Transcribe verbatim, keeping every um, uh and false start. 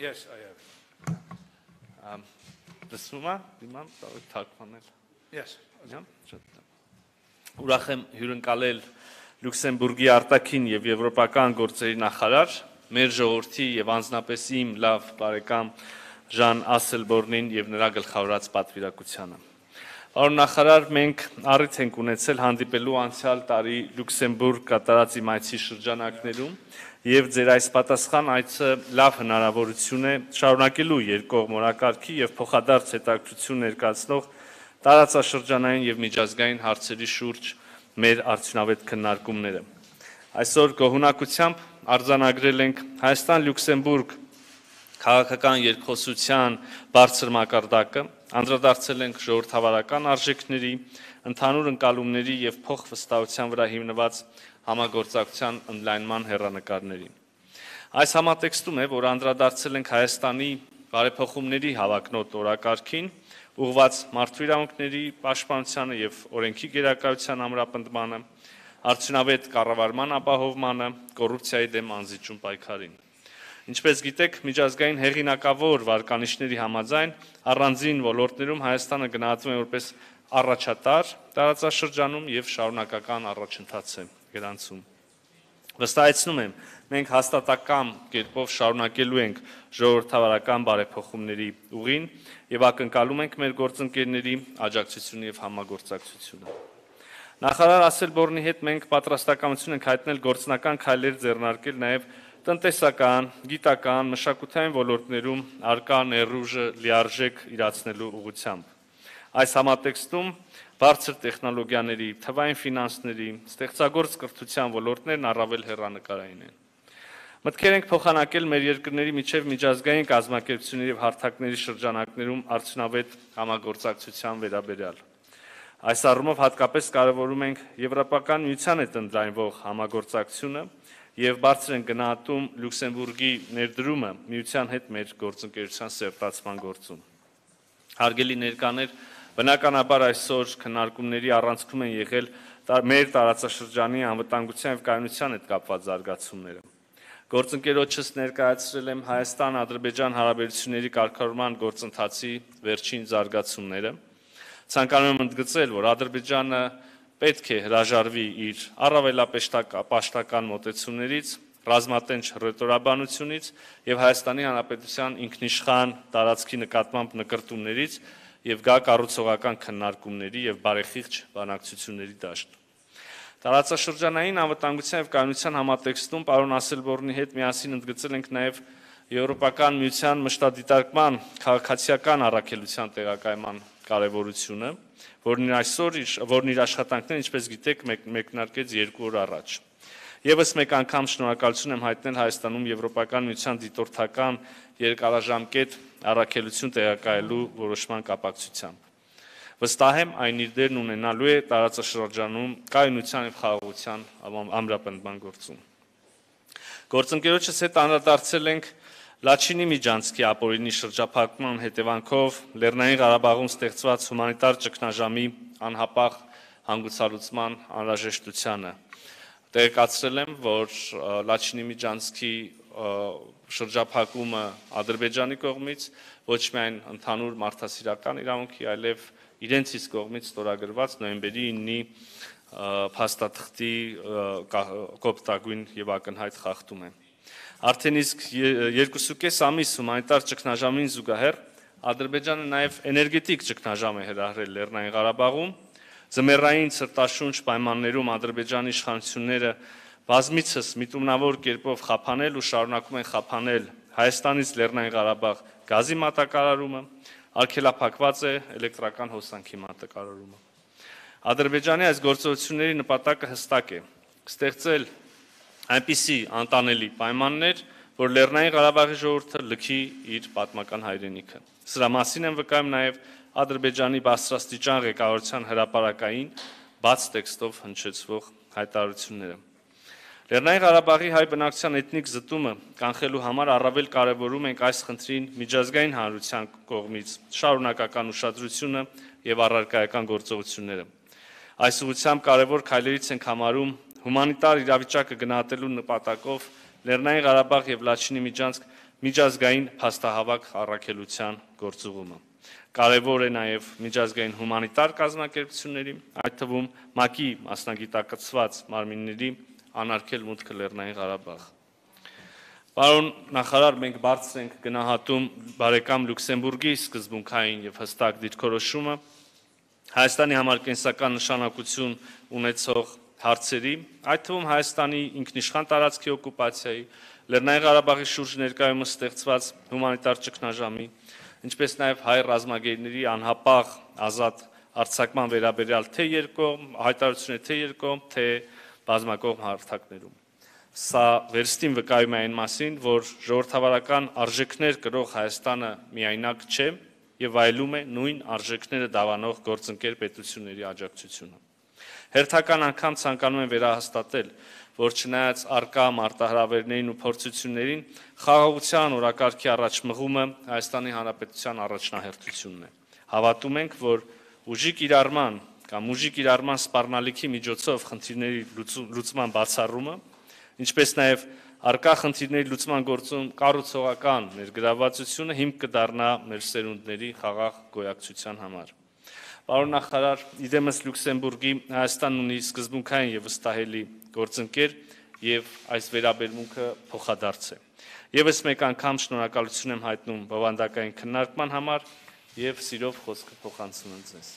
Yes, I have. Um, Դսումը, դիմամ, թարգմանել։ Yes. Ուրախ եմ հյուրընկալել Լյուքսեմբուրգի արտաքին եւ եվրոպական գործերի նախարար, մեր ժողովրդի եւ անձնապես իմ լավ բարեկամ Ժան Ասելբորնին եւ նրա գլխավորած պատվիրակությանը։ Պարոն նախարար, մենք առիթ ենք ունեցել հանդիպելու անցյալ տարի Լյուքսեմբուրգ կատարած իմ այցի շրջանակներում եւ ձեր այս պատասխան այցը լավ հնարավորություն է շարունակելու երկկողմ օրակարգի եւ փոխադարձ հետաքրքրություն ներկայացնող տարածաշրջանային եւ միջազգային հարցերի շուրջ մեր արդյունավետ քննարկումները։ Այսօր գոհունակությամբ արձանագրել ենք Հայաստան-Լյուքսեմբուրգ քաղաքական երկխոսության բարձր մակարդակը, անդրադարձել ենք ժողովրդավարական արժեքների, ընդհանուր ընկալումների եւ փոխվստահության վրա հիմնված համագործակցության ընդլայնման հեռանկարներին։ Այս համատեքստում է, որ անդրադարձել ենք Հայաստանի բարեփոխումների հավակնոտ օրակարգին, ուղղված մարդու իրավունքների պաշտպանությանը եւ օրենքի գերակայության ամրապնդմանը, արդյունավետ կառավարման ապահովմանը, կոռուպցիայի դեմ անզիջում պայքարին։ Ինչպես գիտեք, միջազգային հեղինակավոր վարկանիշների համաձայն առանձին ոլորտներում Հայաստանը գնահատվում է որպես առաջատար տարածաշրջանում եւ շարունակական առաջընթաց է գրանցում։ Վստահեցնում եմ, մենք հաստատակամ կերպով շարունակելու ենք ժողովրդավարական բարեփոխումների ուղին եւ ակնկալում ենք մեր գործընկերների աջակցությունը եւ համագործակցությունը։ Նախարար Ասելբորնի հետ մենք պատրաստակամություն ենք հայտնել գործնական քայլեր ձեռնարկել նաեւ տնտեսական, գիտական, մշակութային ոլորտներում արկա ներուժը լիարժեք իրացնելու ուղղությամբ։ Այս համատեքստում բարձր տեխնոլոգիաների, թվային ֆինանսների, ստեղծագործ կրթության ոլորտներն առավել հեռանկարային են։ Մտքեր ենք փոխանակել մեր երկրների միջև միջազգային կազմակերպությունների եւ հարթակների շրջանակներում արդյունավետ համագործակցության վերաբերյալ։ Այս առումով հատկապես կարևորում ենք Եվրոպական միության հետ ընդլայնվող համագործակցությունը եւ բարձր են գնահատում Լյուքսեմբուրգի ներդրումը միության հետ մեր գործընկերության սերտացման գործում։ Հարգելի ներկաներ, բնականաբար այսօր քննարկումների առանցքում են եղել մեր տարածաշրջանի անվտանգության եւ կայունության հետ կապված զարգացումները։ Գործընկերոջս ներկայացրել եմ Հայաստան-Ադրբեջան հարաբերությունների կարգավորման գործընթացի վերջին զարգացումները։ Ցանկանում եմ ընդգծել, որ Ադրբեջանը պետք է հրաժարվի իր առավելապաշտական մոտեցումներից, ռազմատենչ ռետորաբանությունից եւ Հայաստանի Հանրապետության ինքնիշխան տարածքի նկատմամբ նկրտումներից եւ գա կառուցողական քննարկումների եւ բարեխիղճ բանակցությունների դաշտ։ Տարածաշրջանային անվտանգության եւ կայունության համատեքստում պարոն Ասելբորնի հետ միասին ընդգծել ենք նաեւ Եվրոպական միության մշտադիտարկման քաղաքացիական առաքելության տեղակայման կարևորությունը, որն այսօր որն իր աշխատանքներն, ինչպես գիտեք, մեկնարկեց երկու օր առաջ։ Եվս մեկ անգամ շնորհակալություն եմ հայտնել Հայաստանում Եվրոպական միության դիտորդական երկարաժամկետ առաքելություն տեղակայելու որոշման կապակցությամբ։ Վստահ եմ, այն իր դերն ունենալու է տարածաշրջանում կայունության եւ խաղաղության ամրապնդման գործում։ Գործընկերոջս հետ անդրադարձել ենք Լաչինի միջանցքի ապօրինի շրջափակման հետևանքով Լեռնային Ղարաբաղում ստեղծված հումանիտար ճգնաժամի անհապաղ հանգուցալուծման անհրաժեշտությանը։ Տեղեկացրել եմ, որ Լաչինի միջանցքի շրջափակումը Ադրբեջանի կողմից ոչ միայն ընդհանուր մարդասիրական իրավունքի, այլև իրենց իսկ կողմից ստորագրված նոյեմբերի իննի փաստաթղթի կոպտագույն եւ ակնհայտ խախտում է։ Արդեն իսկ երկուսուկես ամիս հումանիտար ճգնաժամին զուգահեռ Ադրբեջանը նաև էներգետիկ ճգնաժամ է հրահրել Լեռնային Ղարաբաղում, ձմեռային ցրտաշունչ պայմաններում Ադրբեջանի իշխանությունները բազմիցս միտումնավոր կերպով խափանել ու շարունակում են խափանել Հայաստանից Լեռնային Ղարաբաղ գազի մատակարարումը, արգելափակված է էլեկտրական հոսանքի մատակարարումը։ Ադրբեջանի այս գործողությունների նպատակը հստակ է՝ ստեղծել այնպիսի անտանելի պայմաններ, որ Լեռնային Ղարաբաղի ժողովուրդը լքի իր պատմական հայրենիքը։ Սրա մասին են վկայում նաև Ադրբեջանի բարձրաստիճան ղեկավարության հրապարակային բաց տեքստով հնչեցվող հայտարարությունները։ Լեռնային Ղարաբաղի հայ բնակչության էթնիկ զտումը կանխելու համար առավել կարևորում ենք այս խնդրին միջազգային հանրության կողմից շարունակական ուշադրությունը եւ առարկայական գործողությունները։ Այս ուղղությամբ կարևոր քայլերից ենք համարում հումանիտար իրավիճակը գնահատելու նպատակով Լեռնային Ղարաբաղ եւ Լաչինի միջանցք միջազգային փաստահավաք առաքելության գործուղումը։ Կարևոր է նաև միջազգային հումանիտար կազմակերպությունների, այդ թվում ՄԱԿ-ի մասնագիտակցված մարմինների անարգել մուտքը Լեռնային Ղարաբաղ։ Պարոն նախարար, մենք բարձր ենք գնահատում բարեկամ Լյուքսեմբուրգի սկզբունքային եւ հստակ դիրքորոշումը Հայաստանի համար կենսական նշանակություն ունեցող հարցերի, այդ թվում Հայաստանի ինքնիշխան տարածքի օկուպացիայի, Լեռնային Ղարաբաղի շուրջ ներկայումս ստեղծված հումանիտար ճգնաժամի, ինչպես նաև հայ ռազմագերիների անհապաղ ազատ արձակման վերաբերյալ թե երկկողմ հայտարարություններ, թե երկկողմ, թե բազմակողմ հարթակներում։ Սա վերստին վկայում է այն մասին, որ ժողովրդավարական արժեքներ կրող Հայաստանը միայնակ չէ եւ այլում է նույն արժեքները դավանող գործընկեր պետությունների աջակցությունը։ Հերթական անգամ ցանկանում եմ վերահաստատել, որ չնայած առկա մարտահրավերներին ու փորձություններին, խաղաղության օրակարգի առաջ մղումը Հայաստանի Հանրապետության առաջնահերթությունն է։ Հավատում ենք, որ ուժի կիրառման կամ ուժի կիրառման սպառնալիքի միջոցով խնդիրների լուծման բացառումը, ինչպես նաև առկա խնդիրների լուծման գործում կառուցողական ներգրավվածությունը հիմք կդառնա մեր սերունդների խաղաղ գոյակցության համար։ Պարոն նախարար, իդեմս Լյուքսեմբուրգի Հայաստանն ունի սկզբունքային եւ վստահելի գործընկեր եւ այս վերաբերմունքը փոխադարձ է։ Եվս մեկ անգամ շնորհակալություն եմ հայտնում բովանդակային քննարկման համար եւ սիրով խոսքը փոխանցում եմ ձեզ։